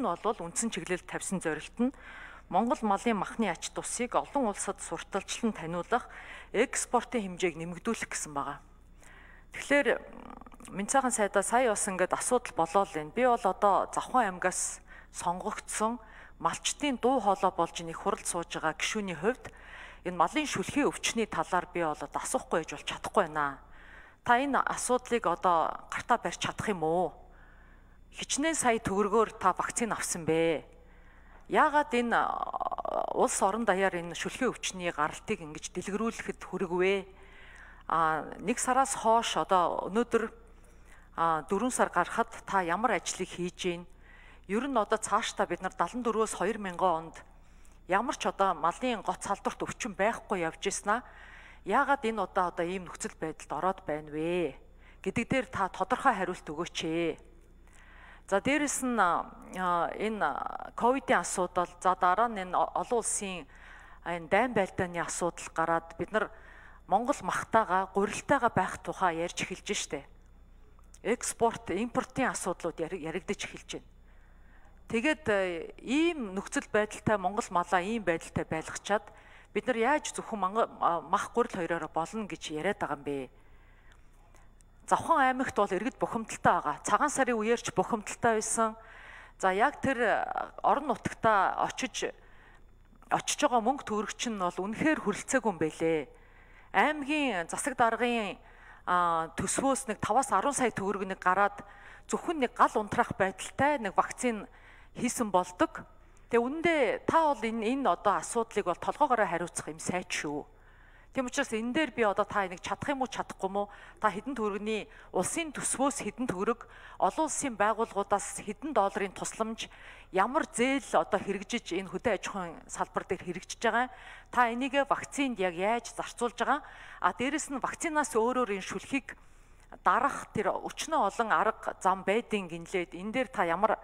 нь бол үндсэн чиглэлд тавьсан зорилт нь Монгол малын махны ач тусыг олон улсад сурталчлан таниулах, экспортын хэмжээг нэмэгдүүлэх гэсэн байгаа. Тэгэхээр Минцаахан сайдаа сая бас ингээд асуудал болоо л байна. Би бол одоо Завхан аймгаас сонгогдсон малчтын дуу хоолой болж нэг хурал сууж байгаа гишүүний хувьд энэ малын шүлхий өвчний талаар би бол асуухгүй гэж бол чадахгүй байна. Та энэ асуудлыг одоо гартаа барьж чадах юм уу? Хичнээн сая төгрөгөөр та вакцин авсан бэ? Яагаад энэ улс орон даяар энэ шүлхий өвчний гаралтыг ингэж дэлгэрүүлэхэд хүрэгвэ? Нэг сараас хойш одоо өнөөдөр 4 сар гарахад та ямар ажлыг хийж гин? Ер нь одоо цаашдаа бид нар 74-өөс 2000 онд ямар ч одоо малын гоц салдварт өвчин байхгүй явж ирсэн аа. Яагаад энэ одоо ийм нөхцөл байдалд ороод байна вэ гэдэг дээр та тодорхой хариулт өгөөч ээ. За дээрэс нь энэ ковидын асуудал, за дараа нь энэ олон улсын энэ дайн байлдааны асуудал гараад бид нар Монгол махтайгаа гурилтайгаа байх тухай ярьж эхэлж штэ. Экспорт, импортын асуудлууд яригдаж эхэлж байна. Тэгээд ийм нөхцөл байдалтай Монгол малаа ийм байдалтай байлгачаад бид нар яаж зөвхөн мах гурил хоёроор болно гэж яриад байгаа юм бэ? Завхан аймагт бол иргэд бухимдалтай байгаа. Цагаан сарын үеэр ч бухимдалтай байсан. За яг тэр орон нутагтаа очиж байгаа мөнгө төгрөгч нь бол үнэхээр хүрэлцээгүй юм байлээ. Аймгийн засаг даргын төсвөөс нэг 5-10 сая төгрөг нэг гараад зөвхөн нэг гал унтраах байдалтай нэг вакцин хийсэн болдог. Тэгээ үүндээ та бол энэ одоо асуудлыг бол толгоогоороо хариуцах юм сайд шүү. Тийм учраас энэ дээр би одоо та энийг чадах юм уу чадахгүй юм уу? Та хэдэн төгрөгийн улсын төсвөөс хэдэн төгрөг, олон улсын байгууллагуудаас хэдэн долларын тусламж, ямар зээл одоо хэрэгжиж энэ хөдөө аж ахуйн салбар дээр хэрэгжиж байгаа. Та энийгээ вакцинд яг яаж зарцуулж байгаа? Дээрэс нь вакцинаас өөрөөр энэ шүлхийг дарах тэр өчнөө олон арга зам байдгийн гинлээд энэ дээр та ямар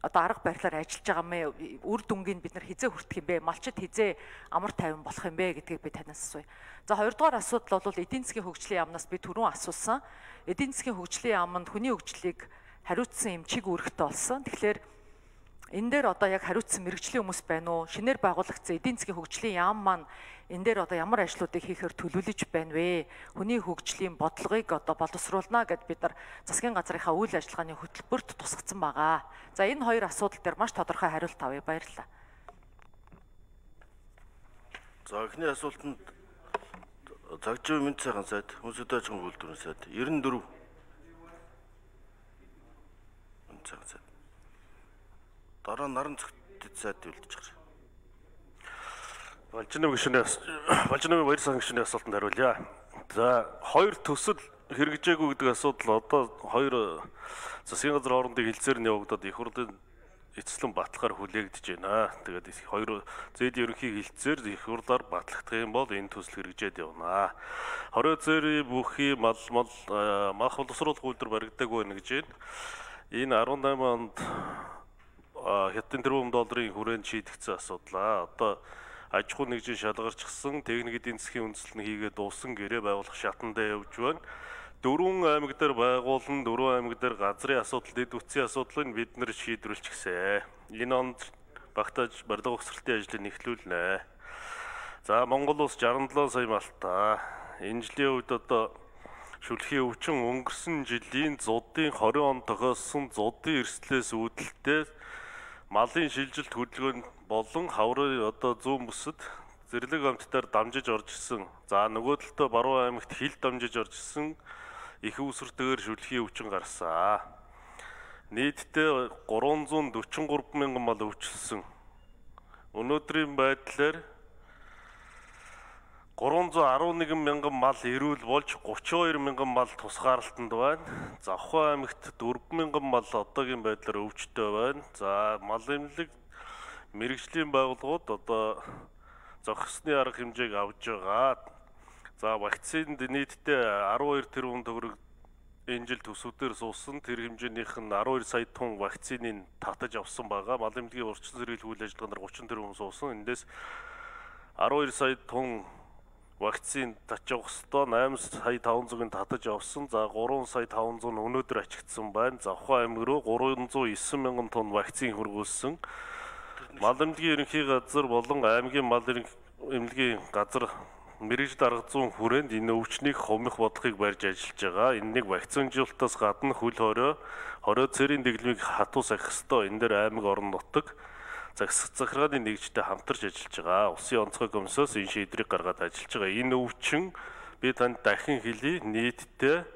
одоо арга барилаар ажиллаж байгаа мэ? Үр дүнгийн бид нар хизээ хүртэх юм бэ? Малчид хизээ амар тайван болох юм бэ гэдгийг би танаас асууя. За хоёрдугаар асуудал бол эдийн засгийн хөгжлийн яамнаас би түрүүн асуусан. Эдийн засгийн хөгжлийн яамд хүний хөгжлийг хариуцсан юм чиг үүрэгтэй болсон. Тэгэхээр энэ дээр одоо яг хариуцсан мэрэгжлийн хүмүүс байна уу? Шинээр байгуулагдсан эдийн засгийн хөгжлийн яам маань энэ дээр одоо ямар ажлуудыг хийхээр төлөвлөж байна вэ? Хүний хөгжлийн бодлогыг одоо боловсруулна гэд бид нар засгийн газрынхаа үйл ажиллагааны хөтөлбөрт тусгацсан байгаа. За энэ хоёр асуудал дээр маш тодорхой хариулт авъя. Баярлалаа. За эхний асуултанд цагжийн Минцаахан сайд, Хүнсэд аж ахуйн үйлдвэрийн сайд 94 Минцаахан сайд. Дараа нь Наран зөвхөд сайд үлдэж гарч. Балжиныг баяр сан гишүүний асуултанд хариулъя. За хоёр төсөл хэрэгжээгүй гэдэг асуудал одоо хоёр засгийн газрын хоорондын хилцээр нь явагдаад их хурлын эцэслэн баталгаар хүлээгдэж байна. Тэгээд хоёр зээдийн ерөнхий хилцээр их хурлаар батлагдах юм бол энэ төсөл хэрэгжээд явна. Хорой зээри бүхий мах боловсруулах үйлдвэр баригдаагүй байна гэж байна. Энэ 18 онд хятадын тэрбум долларын хүрээнд шийдэгдсэн асуудлаа. Одоо аж ахуй нэгжийн шалгарчсан техник эдийн засгийн үндэслэл нь хийгээд дууссан гэрээ байгуулах шатандаа явж байна. 4 аймаг дээр байгуулан 4 аймаг дээр газрын асуудал, дэд үтсийн асуудлыг бид нэр шийдвэрлэчихсэн. Энэ онд багтааж барилга угсралтын ажлыг эхлүүлнэ. За Монгол улс 67 сая малтай. Энэ жилийн үед одоо шүлхий өвчин өнгөрсөн жилийн зуудын 20 онд тохиолсон зуудын эрсдлээс үүдэлтэй малын шилжилт хөдөлгөөнд болон хаврын одоо зүүн бүсэд зэрлэг амттаар дамжиж орж ирсэн. За нөгөө талдаа Баруун аймагт хил дамжиж орж ирсэн их үүсвэртэйгээр шүлхий өвчин гарсан. Нийтдээ 343 мянган мал өвчлсөн. Өнөөдрийн байдлаар 311 мянган мал эрүүл болж 32 мянган мал тусгаарлалтанд байна. Завхан аймагт 4 мянган мал одоогийн байдлаар өвчтөй байна. За мал эмнэлэг мэрэгжлийн байгууллагууд одоо зохисны арга хэмжээг авж байгаа. За вакцинд нийтдээ 12 тэрбум төгрөг энэ жил төсвүүдээр суусан. Тэр хэмжээнийх нь 12 сая тонн вакциныг татаж авсан байгаа. Мал эмнэлгийн урьдчилан сэргийлэх үйл ажиллагаанаар 30 тэрбум суусан. Эндээс 12 сая тонн вакцин татж явах хэвээр 8 сая 500-ыг татаж явсан. За 3 сая 500 нь өнөөдөр ачигдсан байна. Завхан аймаг руу 309 мянган тонн вакцин хөргүүлсэн. Мал эмнэлгийн ерөнхий газар болон аймгийн мал эмнэлгийн газар мэрэгжил арга зүйн хүрээнд энэ өвчнийг хумих бодлогыг барьж ажиллаж байгаа. Энэнийг вакцинжуулалтаас гадна хөл хорио цэрийн дэглэмийг хатуу сахих ёстой. Энэ дээр аймаг орон нутаг захиргааны нэгжтэй хамтарч ажиллаж байгаа. Улсын онцгой комиссоос энэ шийдвэрийг гаргаад ажиллаж байгаа. Энэ өвчин би танд дахин хэлье, нийтдээ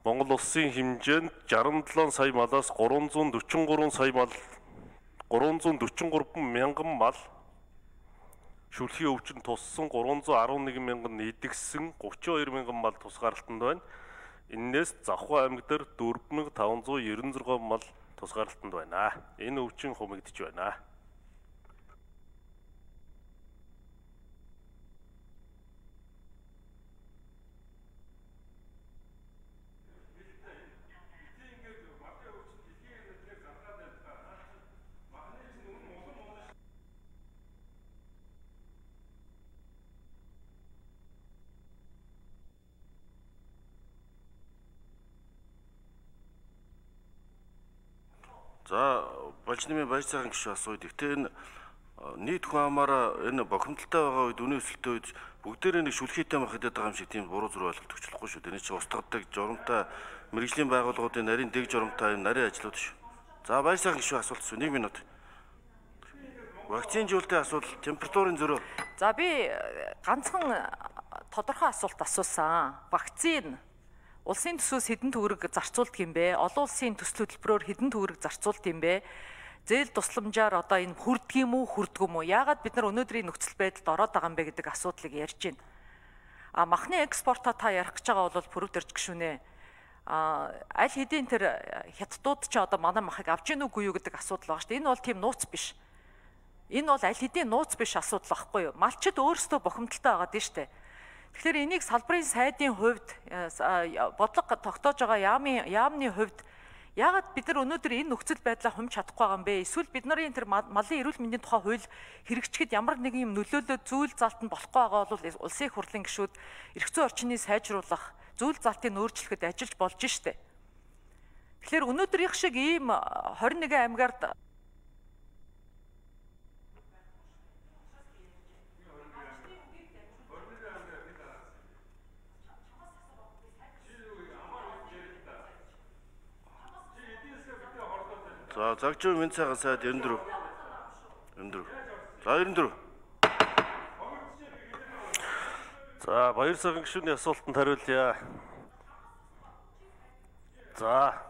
Монгол улсын хэмжээнд 67 сая малаас 343 мянган мал шүлхийн өвчин туссан, 311 мянган идэгсэн, 32 мянган мал тусгаарлалтанд байна. Иннээс Завхан аймаг дээр 4596 мал тусгаарлалтанд байна. Энэ өвчин хумигдж байна. За болж нэмийн баяр цагаан гишүүн асууя. Гэхдээ энэ нийт хүн амаараа энэ бохимдолтой байгаа үед үнийн өсөлттэй үед бүгдээрээ нэг шүлхийтэй мах хэдэд байгаа юм шиг тийм буруу зүрх ойлголт өгчлөхгүй шүү. Энэ чинь устгадаг журамтай мэрэгжлийн байгууллагуудын нарийн дэг журамтай нарийн ажлууд шүү. За баяр цагаан гишүүн асуулт шүү. 1 минут. Вакцинжуулалтын асуудал, температурын зөрөө. За би ганцхан тодорхой асуулт асуусан. Вакцин улсын төсвөөс хэдэн төгрөг зарцуулдаг юм бэ? Олон улсын төсөл хөтөлбөрөөр хэдэн төгрөг зарцуулдаг юм бэ? Зээл тусламжаар одоо энэ хүрдэг юм уу, хүрдэг юм уу? Яагаад бид нар өнөөдрийн нөхцөл байдалд ороод байгаа юм бэ гэдэг асуудлыг ярьж байна. Махны экспортоо та ярих гэж байгаа бол пүрэв дэрж гişүнэ. Аль хэдийн тэр хятадууд ч одоо манай махыг авч ийн үгүй юу гэдэг асуудал байгаа шүү дээ. Энэ бол тийм нууц биш. Энэ бол аль хэдийн нууц биш асуудал байхгүй юу? Малчид өөрсдөө бохимдолтой байгаа дээ шүү дээ. Тэгэхээр энийг салбарын сайдын хувьд бодлого тогтоож байгаа яамны хувьд яагаад бид нар өнөөдөр энэ нөхцөл байдлаа хумж чадахгүй байгаа юм бэ? Эсвэл бид нарын тэр малын эрүүл мэндийн тухай хууль хэрэгжихэд ямар нэгэн юм нөлөөлөө зүйл залтанд болохгүй байгаа бол улсын их хурлын гишүүд эрх зүйн орчныг сайжруулах, зүйл залтыг өөрчлөхөд ажиллаж болж штэ. Тэгэхээр өнөөдрийнх шиг ийм 21 аймгаар За загжуу минь цагаан сайд 94. За 94. За баяр цагаан гишүүний асуултанд хариулъя. За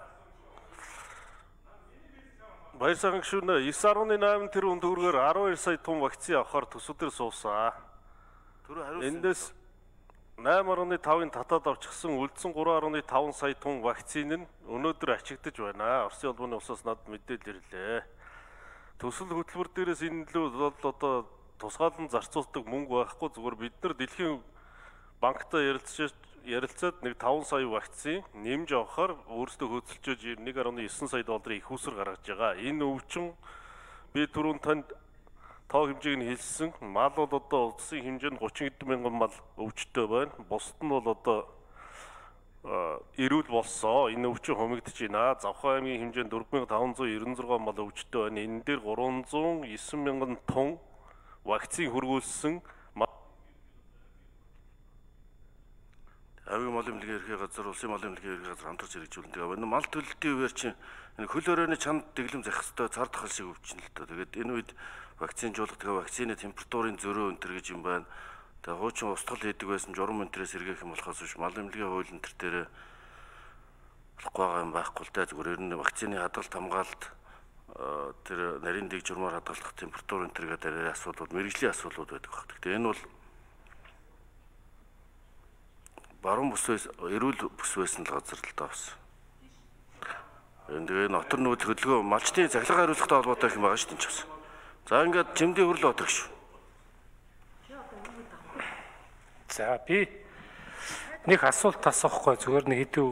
баяр цагаан гишүүнээ 9.8 тэрбум төгрөгөөр 12 сая тонн вакцин авахар төсвөдөр суусан. Эндээс 8.5-ын татаад авчихсан үлдсэн 3.5 сая тонн вакцин нь өнөөдөр ачигдж байна. Оросын улбаны улсаас надад мэдээлэл ирлээ. Төсөл хөтөлбөр дээрээс энэ л одоо тусгаалan зарцуулдаг мөнгө байхгүй, зүгээр бид нар дэлхийн банктай ярилцаад нэг 5 сая вакцин нэмж авахаар өөрсдөө хөдөлж 1.9 сая долларын их усэр гаргаж байгаа. Энэ өвчин би түрүүн танд тоо хэмжээг нь хэлсэн. Мал бол одоо улсын хэмжээнд 30 хэдэн мянган мал өвчтөй байна. Бусд нь бол одоо эрүүл болсон. Энэ өвчин хумигдж байна. Завхан аймгийн хэмжээнд 4596 мал өвчтөй байна. Энэ дээр 309 мянган тонн вакцин хөргүүлсэн. Аймгийн мал эмнэлгийн ерхий газар, улсын мал эмнэлгийн ерхий газар хамтарч хэрэгжүүлдэг байгаа. Энэ мал төлөлтийн үеэр чинь энэ хөл өрөөний чанд дэглэм захих ёстой цар тахал шиг өвчин л доо. Тэгээд энэ үед вакцинжуулалт тэгээ вакцины температурын зөрөө өнтер гэж юм байна. Тэгээ хуучин устгал хийдэг байсан журам өнтрээс сэргээх юм болохоос биш мал эмнэлгийн хууль энэ төр болохгүй байгаа юм байхгүй л да. Зүгээр ер нь вакцины хадгалт хамгаалалт тэр нарийн дэг журмаар хадгалах температур өнтер гэдэг асуудлууд мэрэгжлийн асуудлууд байдаг баг. Тэгээ энэ бол баруун бүсээс эрүүл бүс байсан л газар л таавсан. Тэгээ нотор нүүд хөдөлгөөн малчтын цахилгаан хариуцлагатай холбоотой юм байгаа шүү дээ ч бас. За ингээд чимдийн хөрөл отох шүү. За би нэг асуулт асуухгүй зүгээр нэг хэдэн